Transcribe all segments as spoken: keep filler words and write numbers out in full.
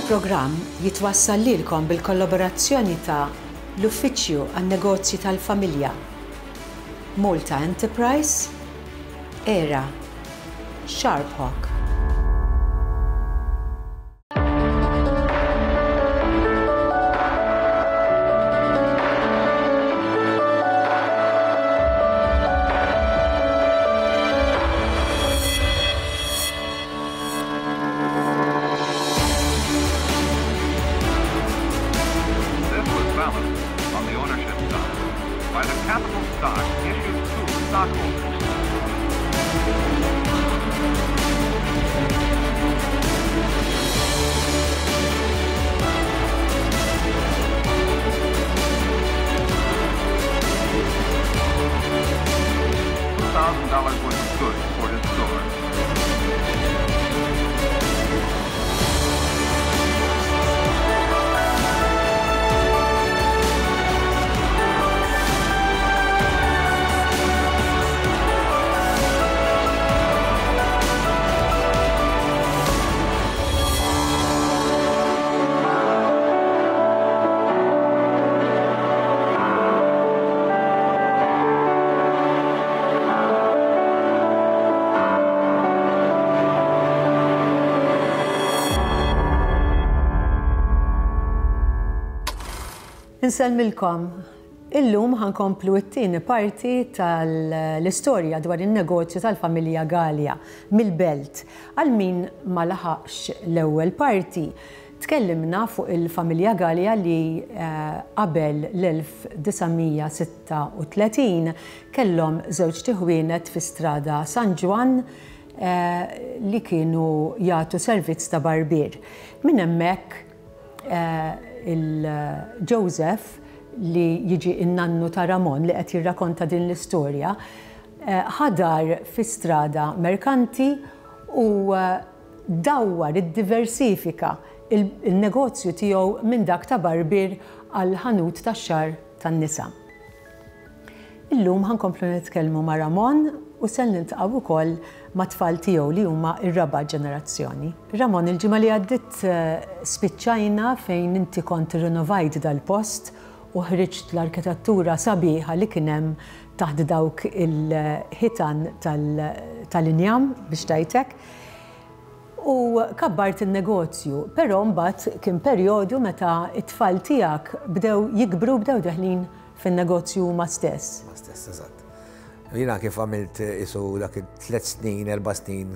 Il-programm jitwassal lilkom bil-kollaborazzjoni ta' l-Uffiċċju għan-Negozji tal-Familja, Malta Enterprise, Era, Sharp Hawk. This was balanced on the ownership side by the capital stock issued to stockholders. Two thousand dollars worth of goods for his store. Insellmilkom. Illum ħa nkomplu t-tieni parti tal-istorja dwar in-negozju tal-familja Galea mill-Belt. Għal min ma laħaqx l-ewwel parti, tkellimna fuq il-familja Galea li eh, qabel l-elf disa' mija sitta u tletin kellhom żewġ tiħwienet fi strada San Ġwann, eh, li kienu jagħtu servizz ta' barbier. Minn hemmhekk, eh, il-Joseph, li jiġi in-nannu ta' Ramon li qed jirrakonta din l-istorja, eh, ħadar fi strada Merkanti u, eh, dawwar iddiversifika il-, il-negozju tiegħu minn dak ta' barbier għal ħanut tax-xagħar tan-nisa. Illum ħa nkomplu nitkellmu ma' Ramon u se niltaqgħu wkoll ma' tfal tiegħu li huma r-raba' ġenerazzjoni. Ramon, il-ġimgħa li għaddiet, eh, spiċċajna fejn inti kont irrinovajt dal-post u ħriġt l-arkitettura sabiħa li kien hemm taħt dawk il-ħitan tal-, tal-injam biex tajtek. U kabbart il-negozju, però mbagħad kien perjodu meta it-tfal tiegħek bdew jikbru, bdew deħlin fin-negozju huma stess. Ma stess, eżatt. Jiena kif għamilt isu dak tliet snin, erba' snin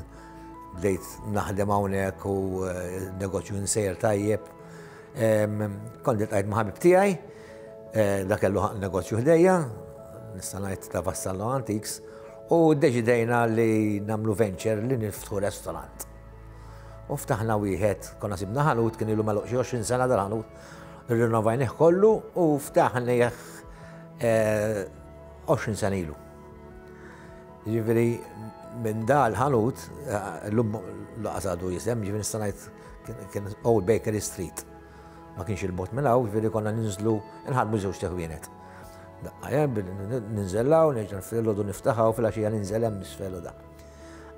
bdejt naħdem hawnhekk u, eh, negozju nsejjer tajjeb. Em, kont iltqajt ma' ħabib tiegħi, eh, dak kellu negozju ħdejja, nista' ngħid ta' Vassallo Antiques, u ddeċidejna li nagħmlu venture li niftħu restaurant. U ftaħna wieħed, konna sibna ħanut, kien ilu magħluq xi għoxrin sena dal-ħanut, irrinnovajnih kollu u ftaħnih, eh, għoxrin sena ilu. Jiġifieri minn dal-ħanut, eh, llum laqas għadu jisem, jiġifieri nista' ngħid kien, kien Old Bakery Street. Ma kienx il-bot minn hawn, jiġifieri konna ninżlu nħadmu żewġ teħwienet. Daqqa, eh, ninżellaw, nerġa' filgħodu niftaħaw, filgħaxija ninżel hemm isfel u da.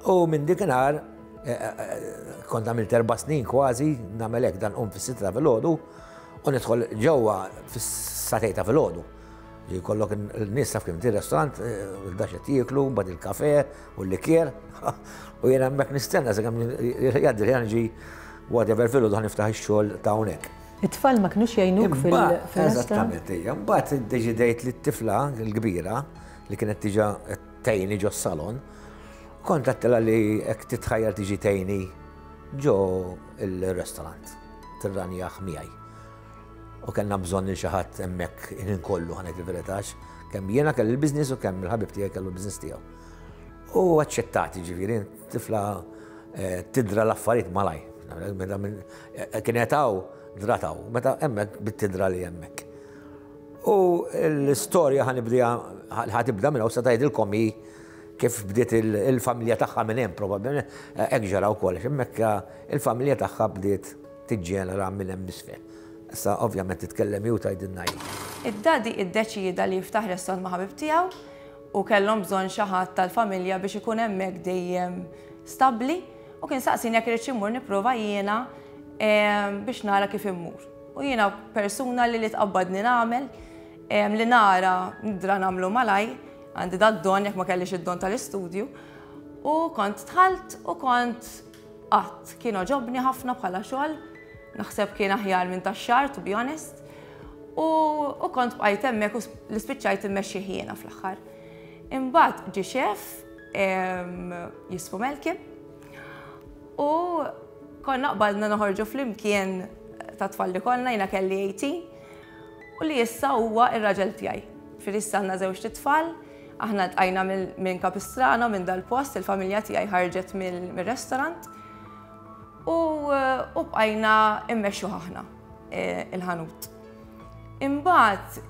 U minn dikinhar, eh, eh, eh, kont għamilt erba' snin kważi, nagħmel hekk dan qum fis-sitta filgħodu u nidħol ġewwa fis-satej ta' filgħodu. Jkollok n-nies taf kemm tir-restaurant, eh, il-dax qed jieklu, mbagħad il-kafe u l-likier. U jiena hemmhekk nistenna sakemm jgħaddi li ġi whatever filgħodu ħa niftaħ ix-xogħol ta' hawnhekk. It-tfal ma kinux jgħinuk fil- Imbagħad, fil-restaurant? Eżattament, ija. Mbagħad iddeċidejt li t-tifla l-kbira li kienet diġà tgħinni ġo s-salon, kont għedtilha li hekk titħajjar tiġi tgħinni ġo il-restaurant, tirranjah miegħi. U kellna bżonn lil xi ħadd hemmhekk il-ħin kollu, ħa ngħid il-verità, kemm jiena kelli l-business u kemm il-ħabib tiegħi kellu l-business tiegħu. U aċċettati, ġifieri, tifla, eh, tidra l-affarijiet malaj. Meta minn, eh, kienet hawn, drataw, meta hemmhekk bit-tidra li hemmhekk. U l-istorja ħa nibdiha, ħa tibda minn hawn, sa tgħidilkom hi kif bdiet il-, il-familja tagħha minn hemm probabbilment, eh, hekk ġara wkoll, għax hemmhekk il-familja tagħha bdiet tiġġenera minn hemm isfel. Issa ovvjament titkellem hi u tgħidilna hi. Id-dadi iddeċieda li jiftaħ restaurant ma' ħabib tiegħu u kellhom bżonn xi ħadd tal-familja biex ikun hemmhekk dejjem stabbli u kien saqsini jekk irid immur nipprova jiena biex nara kif immur. U jiena persuna li li tqabbadni nagħmel, li nara nidra nagħmlu malaj, għandi dad-don jekk ma kellix id-don tal-istudju. U kont dħalt u kont qatt kien għoġobni ħafna bħala xogħol, naħseb kien aħjar minn tax-xagħar, to be honest. U, u kont bqajt hemmhekk u li spiċċajt immexxi jiena fl-aħħar. Imbagħad ġie chef jismu Melkim u konna qbadna noħorġu flimkien ta' tfal li konna, jiena kelli tmintax, u li issa huwa ir-raġel tiegħi. Fil-issa għandna żewġ tfal, aħna tqajna minn Capistrano, minn dal-post, il-familja tiegħi ħarġet mill-restaurant u bqajna immexxu aħna e, il-ħanut. Imbagħad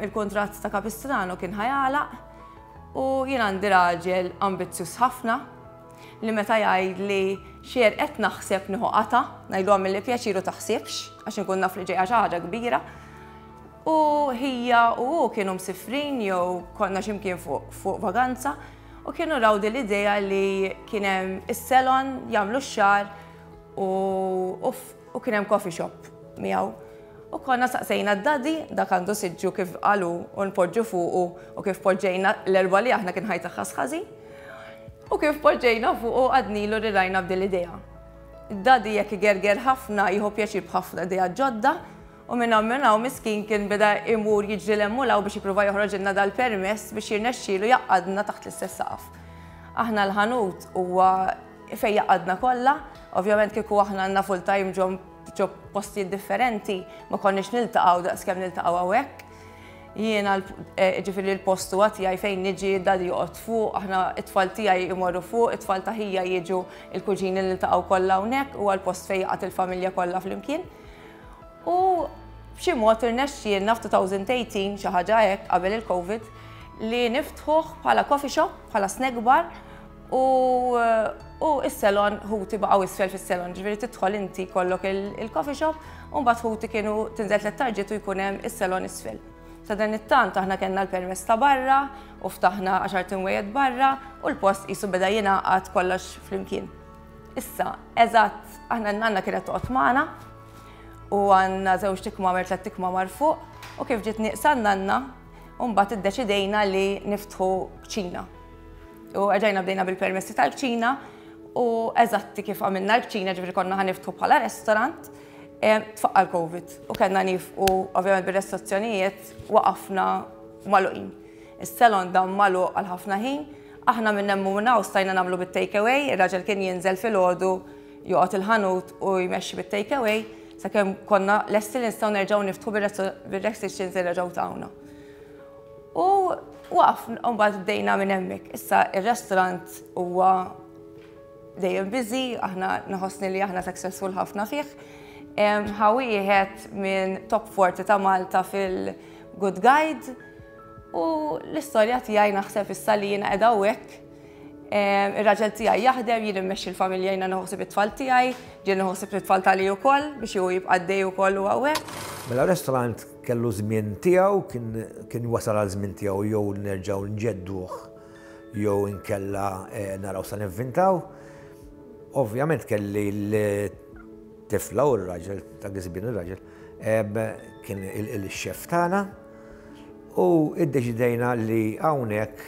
il-kontratt ta' Capistrano kien ħa jagħlaq u jien għandi raġel ambizzjuż ħafna li meta jgħid li xier qed naħseb nieħu qata, ngħidu għamilli pjaċir u taħsibx għax inkun naf li ġejja xi ħaġa kbira. U ħija u hu kienu msifrin jew konna x'imkien fuq fuq vaganza u kienu raw din l-idea li kien hemm is-salon jagħmlu x-xagħar u, u, u kien hemm coffee shop miegħu. U konna saqsejna d-daddy, dak għandu siġġu kif qalu u npoġġu fuqu u kif poġġejna l-erba li aħna kien ħajta ħażin. U kif poġġejna fuqu għednilu li rajna b'din l-idea. Id-daddy jekk igerger ħafna, jieħu pjaċir b'ħafna idea ġodda, u minn hawn minn hawn miskin kien beda imur jiġri l-emmulaw biex jipprova joħroġilna dal-permess biex jirnexxielu jgħaqqadna taħt l-istess saqaf. Aħna l-ħanut huwa fejn jgħaqqadna kollha, ovvjament kieku aħna għandna full-time ġo ġo postijiet differenti, ma konniex niltaqgħu daqs kemm niltaqgħu hawnhekk. Jiena ġifieri l-post huwa tiegħi fejn niġi, daddy joqgħod fuq, aħna it-tfal tiegħi jmorru fuq, it-tfal ta' ħija jiġu, il-kuġini niltaqgħu kollha hawnhekk, huwa l-post fejn jgħaqqad il-familja kollha flimkien. U b'xi mod irnexxielna f'elfejn u tmintax, xi ħaġa hekk qabel il-Covid, li niftħuh bħala coffee shop, bħala snack bar u u s-salon ħuti baqgħu isfel fis-salon, ġifieri tidħol inti kollok il-coffee shop u mbagħad ħuti kienu tinżel tliet tarġiet u jkun hemm is-salon isfel. Sa dan it-tant aħna kellna l-permess ta' barra u ftaħna għaxar imwejjed barra u l-post qisu beda jingħaqad kollox flimkien. Issa, eżatt, aħna n-nanna kienet toqgħod magħna u għandna żewġ kmamar, tliet kmamar fuq u kif ġiet nieqsa n-nanna, u mbagħad iddeċidejna li niftħu kċina. U erġajna bdejna bil-permessi tal-kċina u eżatti kif għamilna l-kċina, ġifieri konna ħa niftħu bħala restaurant, tfaqqa l-Covid u kellna nieqfu, ovvjament bir-restrizzjonijiet waqafna magħluqin. Is-salon dam magħluq għal ħafna ħin, aħna minn hemm u minn stajna nagħmlu bit-take away, ir-raġel kien jinżel filgħodu, joqgħod il-ħanut u jmexxi bit-take away, sakemm konna lesti li nistgħu nerġgħu niftħu bir-restrictions li reġgħu tawna. U waqaf, mbagħad bdejna minn hemmhekk. Issa ir-restaurant huwa dejjem busy, aħna naħossni li aħna successful ħafna fih. Ħa wieħed minn top forty ta' Malta fil-Good Guide u l-istorja tiegħi naħseb issa li jiena qiegħda hawnhekk. Ir-raġel tiegħi jaħdem, jien immexxi l-familja, jiena naħseb it-tfal tiegħi, ġien naħseb it-tfal tali wkoll biex hu jibqa' dej ukoll u hawnhekk. Mela restaurant kellu żmien tiegħu, kien wasal għal żmien tiegħu jew nerġgħu nġedduh jew inkella eh, naraw sa nivvintaw. Ovvjament kelli l-tifla u r-raġel, ta' għizbin ir-raġel, kien il-xef tagħna u iddeċidejna li hawnhekk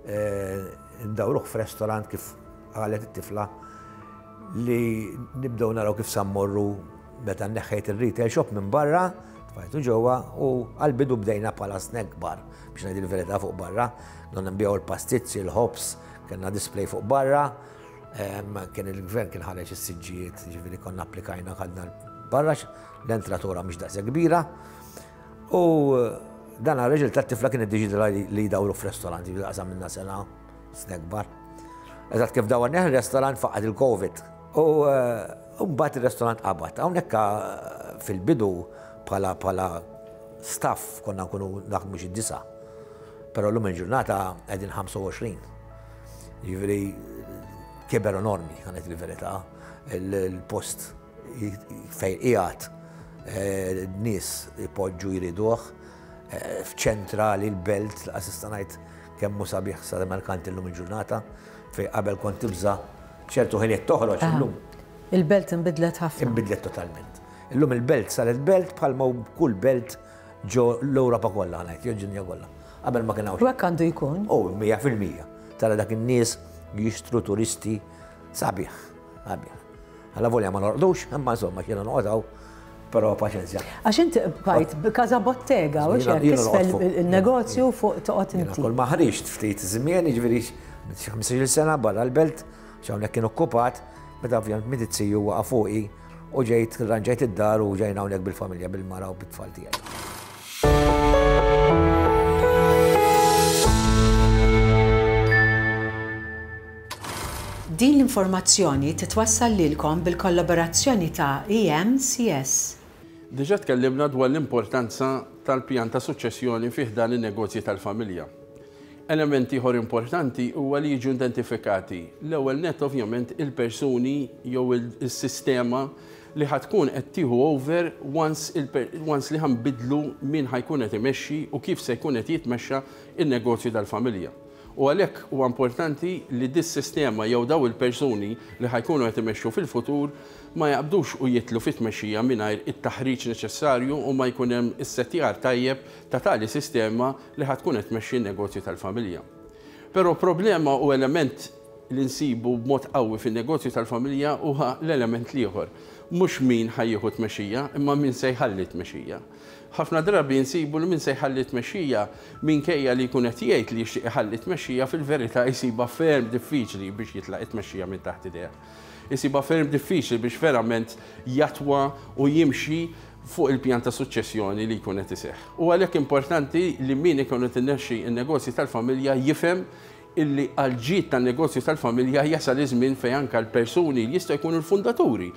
eh, ndawruh f'restaurant kif qalet it-tifla li nibdew naraw kif sa mmorru meta neħħejt il-retail shop minn barra, tfajtu ġewwa u għal-bidu bdejna bħala snack bar biex ngħid il-verità fuq barra, donna nbigħu l-pastizzi, l-ħobż, kellna display fuq barra, kien il-gvern kien ħareġ is-siġġijiet, ġifieri konna applikajna ħadna barra, l-entratura mhix daqshekk kbira. U dan għal-reġil tat-tifla kien iddeċida li jdawru f'restaurant, ġifieri qasam minna sena snack bar. Eżatt kif dawwarnieh il-restaurant faqgħet il-Covid. U mbagħad il-restaurant qabad. Hawnhekk fil-bidu bħala bħala staff konna nkunu naħdmu xi disa. Però llum il-ġurnata qegħdin ħamsa u għoxrin. Jiġifieri kiber enormi, ħa ngħid il-verità. Il-post fejn qiegħed, nies ipoġġu jriduh, f'ċentrali l-Belt, assista ngħid kemm hu sabiħ sa merkanti llum il-ġurnata, fejn qabel kont tibża ċertu ħiliet toħroġ, illum. Il-belt inbidlet ħafna. Inbidlet totalment. Illum il-belt saret belt bħalma kull belt ġo l-Ewropa kollha ngħid, jew ġinja kollha. Qabel ma kien hawn. U hekk għandu jkun? Oh, mija fil-mija. Tara dak in-nies jixtru turisti sabiħ, sabiħ. Alla volja ma norqdux, imma insomma xina noqgħod però paċenzja. Għax inti bqajt b'każa bottega, u xek, isfel il-negozju fuq toqgħod inti. Kull ma ħriġt ftit żmien, jiġifieri xi ħmistax-il sena barra l-belt, hawnhekk kien okkupat, meta ovvjament miet iz-ziju waqa' fuqi u ġejt ranġajt id-dar u ġejna hawnhekk bil-familja, bil-mara u bit-tfal tiegħi. Din l-informazzjoni titwassal lilkom bil-kollaborazzjoni ta' E M C S. Diġà tkellimna dwar l-importanza tal-pjan ta' suċċessjoni fih dan in-negozji tal-familja. Element ieħor importanti huwa li jiġu identifikati l-ewwel nett ovvjament il-persuni jew il-sistema li ħatkun qed tieħu over once il-per-, once li ħanbidlu min ħajkun qed imexxi u kif se jkun qed jitmexxa in-negozju tal-familja. U għalhekk huwa importanti li dis-sistema jew daw il-persuni li ħajkunu qed imexxu fil-futur ma jaqbdux u jitlu fit-tmexxija mingħajr it-taħriġ neċessarju u ma jkun hemm is-settjar tajjeb ta' tali sistema li ħatkun qed tmexxi n-negozju tal-familja. Però problema u element li nsibu b'mod qawwi fin-negozju tal-familja huwa l-element l-ieħor. Mhux min ħajjieħu tmexxija, imma min se jħalli tmexxija. Ħafna drabi nsibu li min se jħalli tmexxija minkejja li jkun qed jgħid li jixtieq iħalli tmexxija fil-verità jsibha ferm diffiċli biex jitlaq it-tmexxija minn taħt idejh. Isibha ferm diffiċli biex verament jatwa u jimxi fuq il-pjan ta' suċċessjoni li jkun qed iseħħ. U għalhekk importanti li min ikun qed inexxi n-negozji tal-familja jifhem illi għal-ġid tan-negozju tal-familja jasal iż-żmien fejn anke l-persuni li jistgħu jkunu l-fundaturi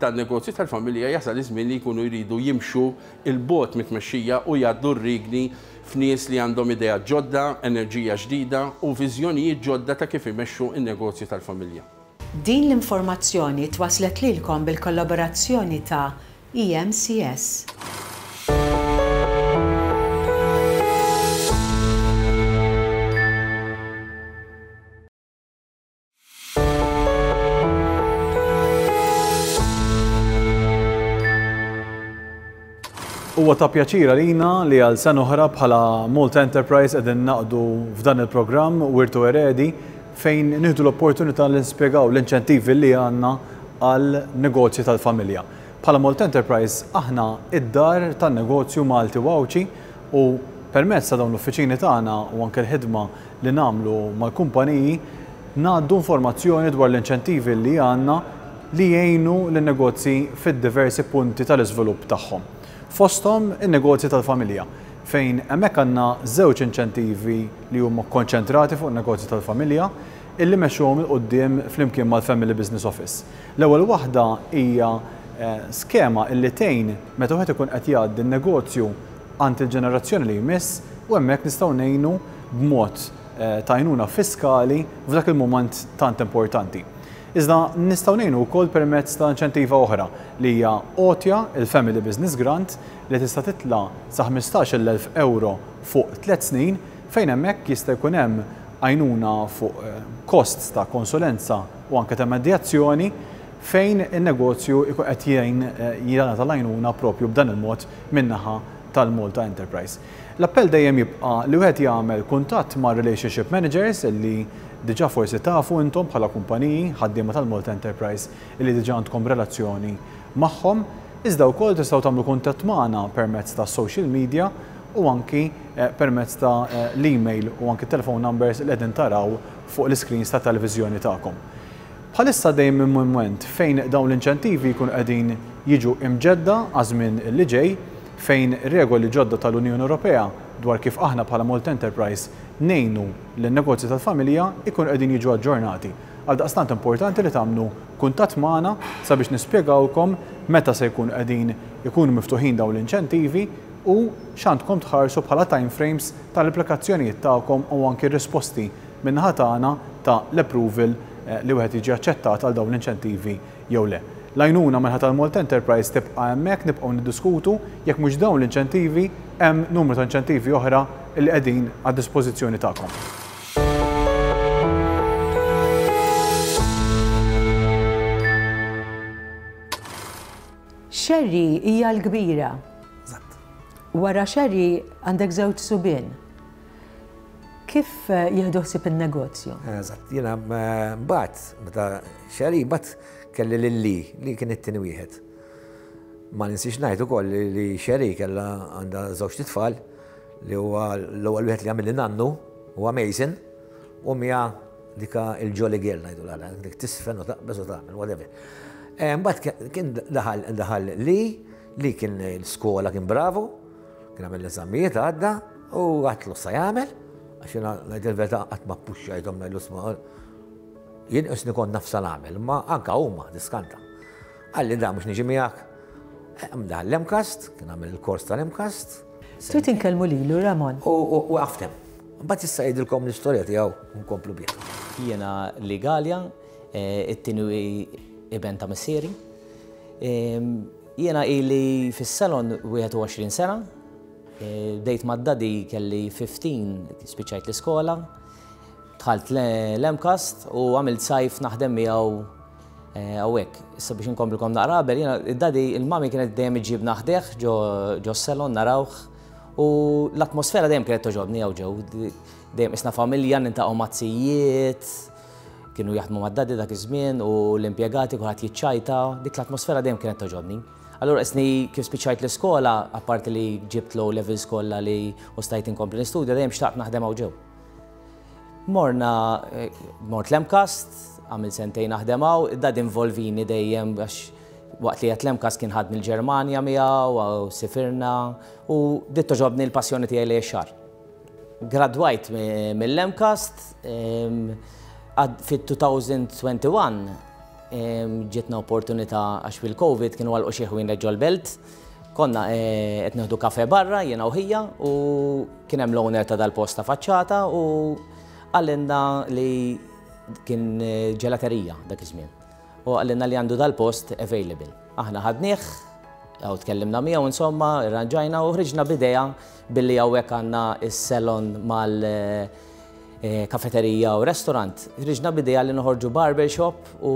tan-negozju tal-familja jasal iż-żmien li jkunu jridu jimxu il-bogħod mit-tmexxija u jgħaddu r-rigni f'nies li għandhom idea ġodda, enerġija ġdida u viżjonijiet ġodda ta' kif imexxu n-negozju tal-familja. Din l-informazzjoni twaslet lilkom bil-kollaborazzjoni ta' E M C S. Huwa ta' pjaċir għalina li għal sena oħra bħala Malta Enterprise qegħdin naqdu f'dan il-programm Wirtu Eredi fejn nieħdu l-opportunità li nispjegaw l-inċentivi li għandna għal negozji tal-familja. Bħala Malta Enterprise aħna id-dar tan-negozju Malti u Għawdxi u permezz ta' dawn l-uffiċini tagħna u anke l-ħidma li nagħmlu mal-kumpaniji ngħaddu informazzjoni dwar l-inċentivi li għandna li jgħinu lin-negozji fid-diversi punti tal-iżvilupp tagħhom. Fosthom in-negozji tal-familja, fejn hemmhekk għandna żewġ inċentivi li huma konċentrati fuq in-negozji tal-familja illi mexxuhom il quddiem flimkien mal-Family Business Office. L-ewwel waħda hija, eh, skema illi tgħin meta wieħed ikun qed jgħaddi n-negozju għand il-ġenerazzjoni li jmiss u hemmhekk nistgħu ngħinu b'mod, eh, ta' għajnuna fiskali f'dak il-mument tant importanti. Iżda nistgħu ngħinu wkoll permezz ta' inċentiva oħra li hija għotja il-Family Business Grant li tista' titla' sa ħmistax-il elf euro fuq tliet snin fejn hemmhekk jista' jkun hemm għajnuna fuq, eh, costs ta' konsulenza u anke ta' medjazzjoni fejn in-negozju jkun qed jgħin, eh, jingħata l-għajnuna propju b'dan il-mod min-naħa tal-Malta Enterprise. L-appell dejjem jibqa' li wieħed jagħmel kuntatt ma' relationship managers illi diġà forsi tafu intom bħala kumpaniji ħaddiema tal-Malta Enterprise illi diġà għandkom relazzjoni magħhom, iżda wkoll tistgħu tagħmlu kuntatt magħna permezz ta' social media u anki, eh, permezz ta', eh, l-email u anki telephone numbers li qegħdin taraw fuq l-iscreens ta' televiżjoni tagħkom. Bħalissa dejjem minn mument fejn dawn l-inċentivi jkunu qegħdin jiġu imġedda għaż-żmien li ġej, fejn regoli ġodda tal-Unjoni Ewropea dwar kif aħna bħala Malta Enterprise ngħinu lin-negozji tal-familja ikunu qegħdin jiġu aġġornati. Għaldaqstant importanti li tagħmlu kuntatt magħna sabiex nispjegawkom meta se jkunu qegħdin ikunu miftuħin dawn l-inċentivi u x'għandkom tħarsu bħala time frames tal-applikazzjonijiet tagħkom u anki r-risposti min-naħa tagħna ta' l-approval, eh, li wieħed jiġi aċċettat għal dawn l-inċentivi jew le. L-għajnuna minħabba tal-Malta Enterprise tibqa' hemmhekk, nibqgħu niddiskutu jekk mhux dawn l-inċentivi hemm numru ta' inċentivi oħra li qegħdin għad-dispożizzjoni tagħkom. Sherry hija l-kbira. Eżatt. Wara Sherry għandek żewġ subien. Kif eh, jieħdu ħsieb in-negozju? Eżatt, jiena mbagħad meta Sherry mbagħad kelli lil Lee li kien it-tieni wieħed. Ma ninsiex ngħid ukoll li li Sherry kellha għandha żewġ tfal li huwa l-ewwel wieħed li għamilli nannu huwa Mason u Mia dika il-Jolly Girl ngħidu l dik tisfen u taqbeż u tagħmel whatever. Eh, Mbagħad kien daħal daħal Lee li kien l-skola kien bravo, kien għamel l-eżamijiet għadda u għedtlu sa jagħmel, għax jiena ngħid il-verità qatt ma ppuxxajthom ngħidlu isma' jien qisni kont naf x'sa nagħmel, ma anka huma diskanta. Qalli da mhux niġi miegħek. Daħal l-MCAST, kien għamel il-kors tal-MCAST. Trid inkellmu lilu Ramon. U għaftem. Mbagħad issa jgħidilkom l-istorja tiegħu nkomplu bih. Jiena Lee Galea, eh, it-tieni iben ta' missieri. Jiena ili fis-salon wieħed u għoxrin sena, eh, bdejt mad-daddy kelli ħmistax, spiċċajt l-iskola, dħalt l-MCAST u għamilt sajf naħdem miegħu eh, hawnhekk. Issa biex inkomplikom naqra qabel, jiena id-daddy il-mami kienet dejjem iġibna ħdejh ġo salon narawh u l-atmosfera dejjem kienet togħġobni hawn ġew. Dejjem isna familja niltaqgħu maz-zijiet, kienu jaħdmu mad-daddy dak iż-żmien u l-impjegati kulħadd jiċċajta, dik l-atmosfera dejjem kienet togħġobni. Allura isni kif spiċċajt l-iskola, apparti li ġibt l levels kollha li u stajt inkompli nistudja, dejjem xtaqt naħdem hawn ġew. Morna, eh, mort l-MCAST, għamil sentejn naħdem hawn, dad involvini dejjem għax waqt li għat l-MCAST kien ħadni l-Ġermanja miegħu u sifirna u bdiet togħġobni l-passjoni tiegħi li xagħar. Gradwajt mill-MCAST, fit-elfejn u wieħed u għoxrin ġietna opportunità għax fil-Covid kienu għalqu xi ħwienet ġol-belt. Konna eh, qed nieħdu kafe barra jiena u ħija u kien hemm l-owner ta' dal-post ta' faċċata u qalilna li kien eh, ġelaterija dak iż-żmien. U qalilna li għandu dal-post available. Aħna ħadnieh, għaw tkellimna miegħu insomma, irranġajna u ħriġna b'idea billi hawnhekk għandna is-salon mal eh, kafeterija u restaurant. Ħriġna b'idea li noħorġu barbershop u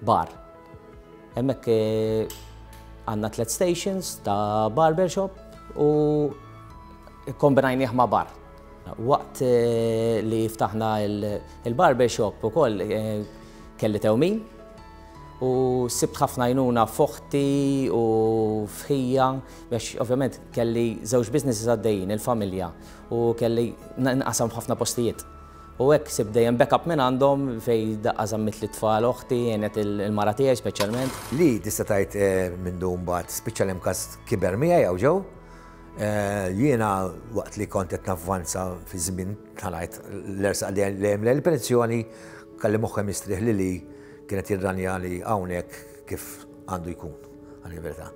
bar. Hemmhekk eh, għandna tliet stations ta' barbershop u kombinajnieh ma' bar. Waqt eh, li ftaħna il-barbershop ukoll kelli tewmin u sibt ħafna għajnuna f'oħti u f'ħija biex ovvjament kelli żewġ businesses għaddejjin, il-familja, u kelli nqasam f'ħafna postijiet. U hekk sibt dejjem backup minn għandhom fej daqqa żammit lit-tfal oħti, għenet il-mara tiegħi speċjalment. Li tista' tgħid eh, minn dum mbagħad spiċċa l-MCAST kiber miegħi hawn ġew. Eh, jiena waqt li kont qed navvanza fi żmien tal-għajt l-ersaq li hemm l-pensjoni kelli moħħi mistrieħ li li kienet jirranja li hawnhekk kif għandu jkun, għal verità.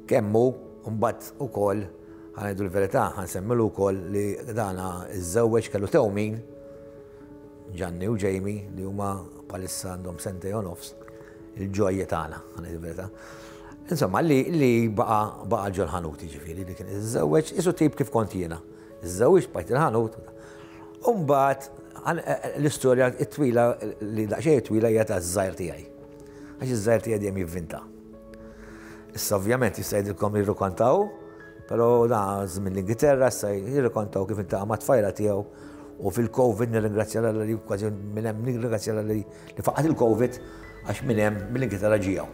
Kemmu mbagħad ukoll ħa ngħidu l-verità, ħa nsemmilu wkoll li dana iżżewweġ kellu tewmin Gianni u Jamie li huma bħalissa għandhom sentejn u nofs il-ġojja tagħna, ħa ngħidu l-verità. Insomma, li, li baqa baqa ġol-ħanut ġifieri li kien iżżewweġ, isu tip kif kont jiena. Iżżewweġ bqajt il-ħanut. Umbagħad l-istorja it-twila li daqsxejn twila hija ta' żgħir tiegħi. Għax iż-żgħir tiegħi dejjem jivvinta. Issa ovvjament jista' jgħidilkom jirrikontaw, però da żmien l-Ingilterra issa jirrikontaw kif iltaqa' ma' tfajla tiegħu u fil-Covid nirringrazzja li kważi minn hemm nirringrazzja li li faqat il-Covid għax minn hemm mill-Ingilterra ġijaw.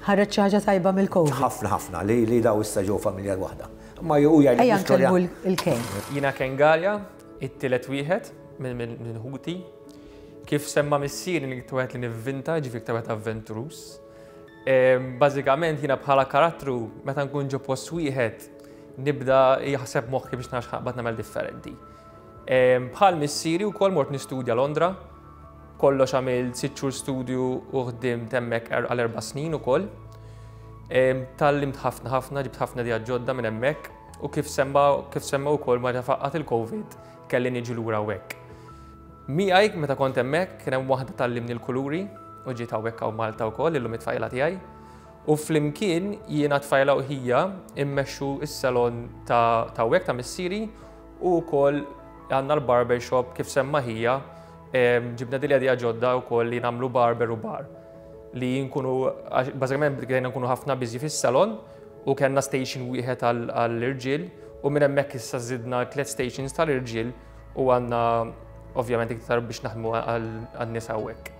Ħareġ xi ħaġa tajba mill-Covid. Ħafna ħafna li li daw issa ġew familja waħda. Ma ju jgħid Ejja nkellmu il-Ken. Jiena Ken Galea, it-tielet wieħed minn minn ħuti. Kif semma missieri li wieħed li nivvinta, ġifieri wieħed avventurus. Bażikament jiena bħala karattru meta nkun ġo post wieħed nibda jaħseb moħħi biex nara x'naqbad nagħmel differenti. Bħal missieri wkoll mort nistudja Londra, kollox għamilt sitt xhur studju u ħdimt hemmhekk er-, għal erba' snin ukoll. Tgħallimt ħafna ħafna, ġibt ħafna ideat ġodda minn hemmhekk u kif semma kif semma wkoll meta faqqat il-Covid kelli niġi lura hawnhekk. Miegħi meta kont hemmhekk kien hemm waħda tgħallimni l-kuluri u ġiet hawnhekk hawn Malta wkoll illum it-tfajla tiegħi. U flimkien jiena tfajla u ħija immexxu s-salon ta' hawnhekk ta' missieri u wkoll għandna l-barbershop kif semma ħija ġibna dil idea ġodda wkoll li nagħmlu barber u bar. Li nkunu, bażikament bdejna nkunu ħafna busy fis-salon u kellna station wieħed għall-irġiel u minn hemmhekk issa żidna tliet stations tal-irġiel u għandna ovvjament iktar biex naħdmu għan-nies hawnhekk.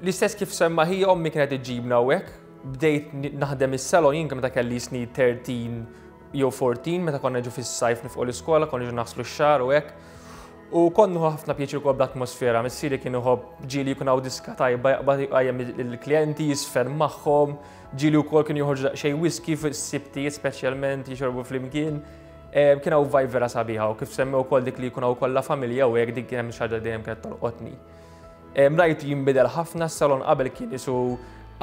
L-istess kif semma ħija, ommi kienet iġġibna hawnhekk, bdejt naħdem is-salon jien meta kelli snin tlettax jew erbatax, meta konna ġu fis-sajf nifqu l-iskola, konna ġu naħslu x-xagħar u hekk. U kont nieħu ħafna pjaċir ukoll bl-atmosfera, missieri kien iħobb ġieli jkun hawn diska tajba jaqbad jqajjem il-klijenti, jisfer magħhom, ġieli wkoll kien joħorġu daqsxejn whisky fis-sibtijiet speċjalment jixorbu flimkien. Kien hawn vibe vera sabiħa u kif semmew ukoll dik li jkun hawn kollha familja u hekk, dik kien hemm xi ħaġa dejjem kienet tolqotni. Rajtu jinbidel ħafna s-salon. Qabel kien isu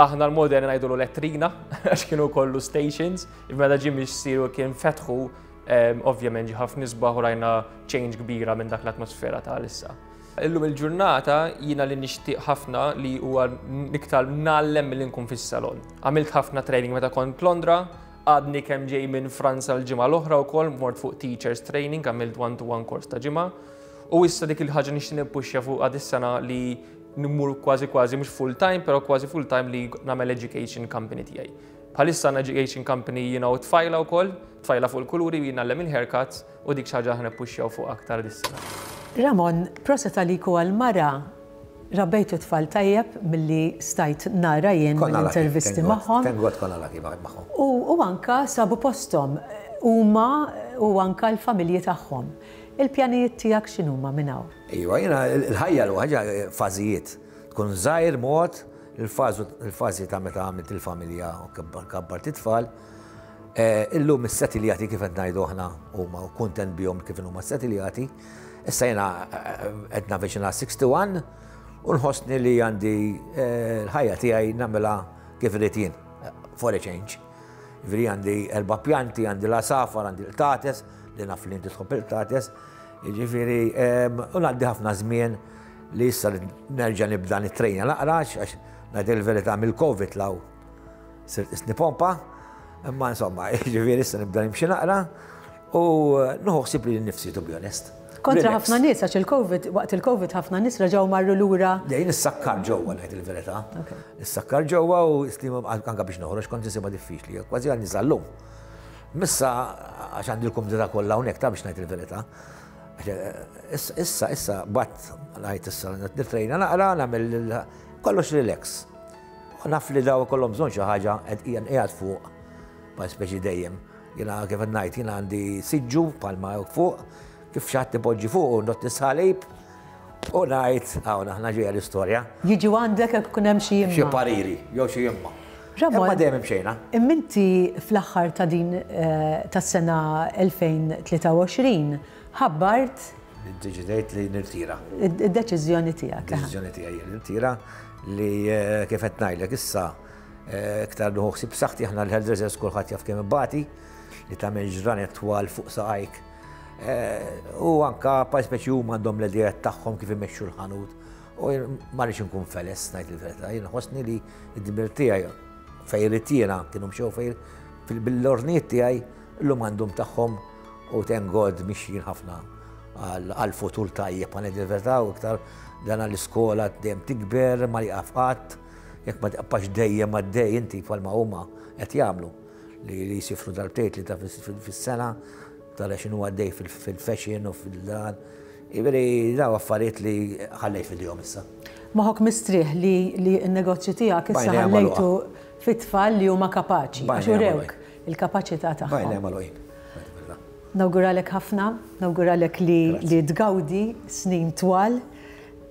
aħna l-moderni ngħidulu letrina għax kienu kollu stations, meta ġie missieri kien fetħu, ovvjament ġie ħafna isbaħ u rajna change kbira minn dak l-atmosfera ta' issa. Illum il-ġurnata jiena li nixtieq ħafna li huwa iktar ngħallem milli nkun fis-salon. Għamilt ħafna training meta kont Londra, għadni kemm ġej minn Franza l-ġimgħa l-oħra wkoll, mort fuq teachers training, għamilt one-to-one course ta' ġimgħa. U issa dik il-ħaġa nixtieq nippuxja fuq għad is-sena li nmur kważi kważi mhux full time, però kważi full time li nagħmel education company tiegħi. Bħalissa education company jiena u tfajla wkoll, tfajla fuq il-kuluri, jiena ngħallem il-haircuts u dik xi ħaġa ħa nippuxjaw fuq aktar dis-sena. Ramon, proset għalik u għal-mara, rabbejtu tfal tajjeb milli stajt nara jien mill-intervisti magħhom. Thank God konna lucky magħhom. U anka sabu posthom huma u anka l-familji tagħhom. Il-pjanijiet tiegħek x'inhuma minn hawn? Iva, jiena il-ħajja l ħaġa fażijiet. Tkun żgħir mod, il-fażi ta' meta għamilt il-familja u kabbart it-tfal. Illum is-setiljati, kif qed ngħidu aħna, huma kuntent bihom kif huma setiljati. Issa jiena qed navviċina wieħed u sittin u nħossni li għandi l-ħajja tiegħi nagħmilha kif irid jien, for a change. Ġifieri għandi erba' pjanti, għandi l-għasafar, għandi l-qtates, li naf li inti tħobb il-qtates. Ġifieri, u ngħaddi ħafna żmien li issa nerġa' nibda nittrejna naqra, għax ngħid il-verità mill-Covid law sirt isni pompa, imma insomma, ġifieri issa nibda nimxi naqra u nieħu ħsieb lili nnifsi, to be honest. Kontra ħafna nies, għax il-Covid, waqt il-Covid ħafna nies reġgħu marru lura. Dejn issakkar ġewwa, ngħid il-verità. Issakkar ġewwa u islim anka biex noħroġ kont insibha diffiċli, kważi għal niżallum. Missa għax għandi l-kumdità kollha hawnhekk ta' biex ngħid il-verità. Issa, issa, bat, ngħid issa, nitrejna naqra, nagħmel kollox relax. U naf li daw kollhom bżonn xi ħaġa qed qiegħed fuq, pa speċi dejjem. Jiena kif qed ngħid, jiena għandi siġġu palma fuq, kif xi ħadd ipoġġi fuq u not nisħalib u ngħid hawn aħna ġejja l-istorja. Jiġu għandek jekk ikun hemm xi Xi jimma. pariri, jew xi jimma. Ramon, Imma dejjem imxejna. Imminti fl-aħħar ta' din eh, tas-sena elfejn u tlieta u għoxrin ħabbart Iddeċidejt li nirtira. id-deċiżjoni tiegħek. Deċiżjoni tiegħi li nirtira li eh, kif qed ngħidlek issa eh, iktar nieħu ħsieb saħħti. Aħna l-hairdressers kulħadd jaf kemm ibati li tagħmel ġranet twal fuq saqajk. Eh, U anka pa speċi huma għandhom l-ideat tagħhom kif imexxu l-ħanut. U jien ma rridx inkun feles, ngħid il-verità, jien ħossni li id-dmir tiegħi fejn irid jiena kienu mxew fejn bil-ordnijiet tiegħi, llum għandhom tagħhom u thank God mixjin ħafna għal-futur tajjeb, għan il-verità, u iktar dan l-iskola dejjem tikber, ma jaqaf qatt, jekk ma tibqax dejjem għaddej inti bħalma huma qed jagħmlu li li jisifru darbtejn li ta' fis-sena tara x'inhu għaddej fil-fashion u fil-dan. Ġifieri daw affarijiet li ħallejt fil-jom issa. Moħok mistrieħ li li n-negozju tiegħek issa Bajna ħallejtu fit-tfal li huma kapaċi. Bajna Għax urewk il-kapaċità Bajna tagħhom. magħluqin. Nawguralek ħafna, nawguralek li, li tgawdi snin twal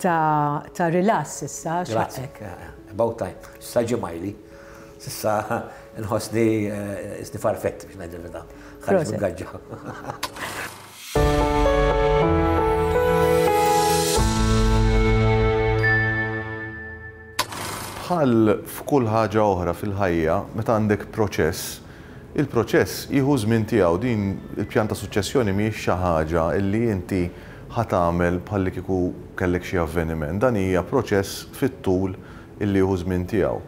ta', ta' relax issa Grazzi. xaqek. About time. Issa ġimajli. Sissa nħossni isni farfett biex ngħid il-verità. Ħareġ Proset. mill-gaġġa. Bħal f'kull ħaġa oħra fil-ħajja, meta għandek proċess, il-proċess jieħu żmien tiegħu. Din il-pjan ta' suċċessjoni mhijiex xi ħaġa illi inti ħa tagħmel bħalli kieku kellek xi avveniment. Dan hija proċess fit-tul illi jieħu żmien tiegħu.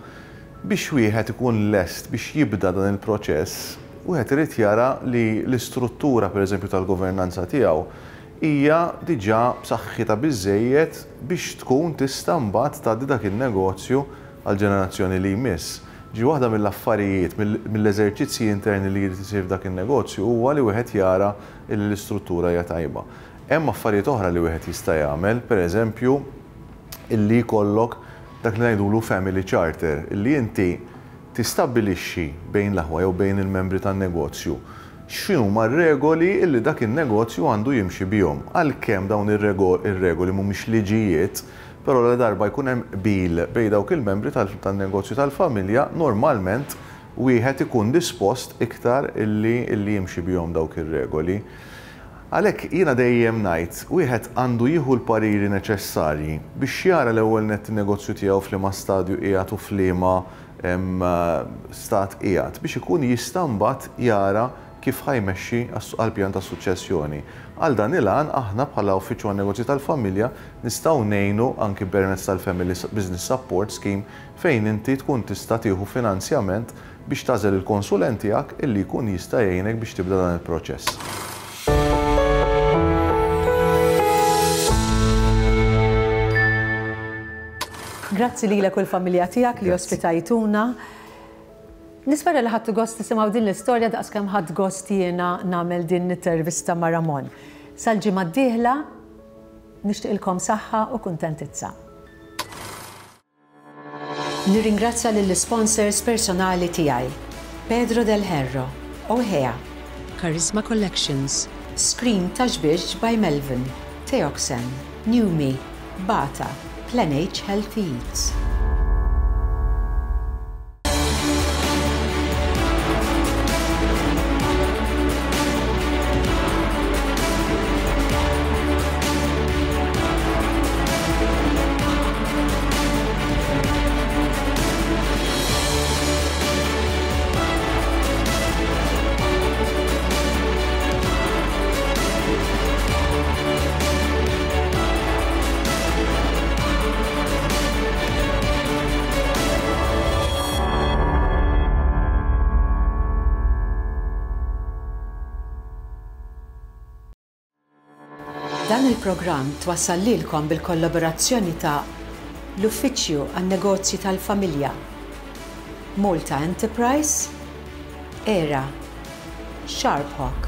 Biex wieħed ikun lest biex jibda dan il-proċess, wieħed irid jara li l-istruttura, pereżempju, tal-governanza tiegħu hija diġà b'saħħitha biżejjed biex tkun tista' mbagħad tgħaddi dak in-negozju għall-ġenerazzjoni li jmiss. Ġi waħda mill-affarijiet, mill-eżerċizzji interni li jrid isir f'dak in-negozju huwa li wieħed jara li l-istruttura hija tajba. Hemm affarijiet oħra li wieħed jista' jagħmel, pereżempju, illi jkollok dak li ngħidulu family charter, illi inti tistabbilixxi bejn l-aħwa jew bejn il-membri tan-negozju x'inhuma r-regoli illi dak in-negozju għandu jimxi bihom. Għalkemm dawn ir-regoli mhumiex liġijiet, però la darba jkun hemm qbil bejn dawk il-membri tan-negozju tal-familja, normalment wieħed ikun dispost iktar illi illi jimxi bihom dawk ir-regoli. Għalhekk jiena dejjem ngħid, wieħed għandu jieħu l-pariri neċessarji biex jara l-ewwel nett in-negozju tiegħu f'liema stadju qiegħed u f'liema stat qiegħed biex ikun jista' mbagħad jara kif ħa jmexxi għall-pjan ta' suċċessjoni. Għal dan il-għan aħna bħala Uffiċċju għan-Negozji tal-Familja nistgħu ngħinu anki permezz tal-Family Business Support Scheme fejn inti tkun tista' tieħu finanzjament biex tagħżel il-konsulent tiegħek illi jkun jista' jgħinek biex tibda dan il-proċess. Grazzi lilek u l-familja tiegħek li ospitajtuna. Nispera li ħadtu gost tisimgħu din l-istorja daqskemm ħadt gost jiena nagħmel din l-intervista ma' Ramon. Sal-ġimgħa d-dieħla nixtieqilkom saħħa u kuntentizza. Nirringrazzja lill-sponsors personali tiegħi: Pedro Del Herro, Ohea, Charisma Collections, Screen Taxbix by Melvin, Teoxen, Newme, Bata, Plan H Healthy Eats. Dan il-programm twassal lilkom bil-kollaborazzjoni ta' l-Uffiċċju għan-Negozji tal-Familja, Malta Enterprise, Era, Sharp Hawk.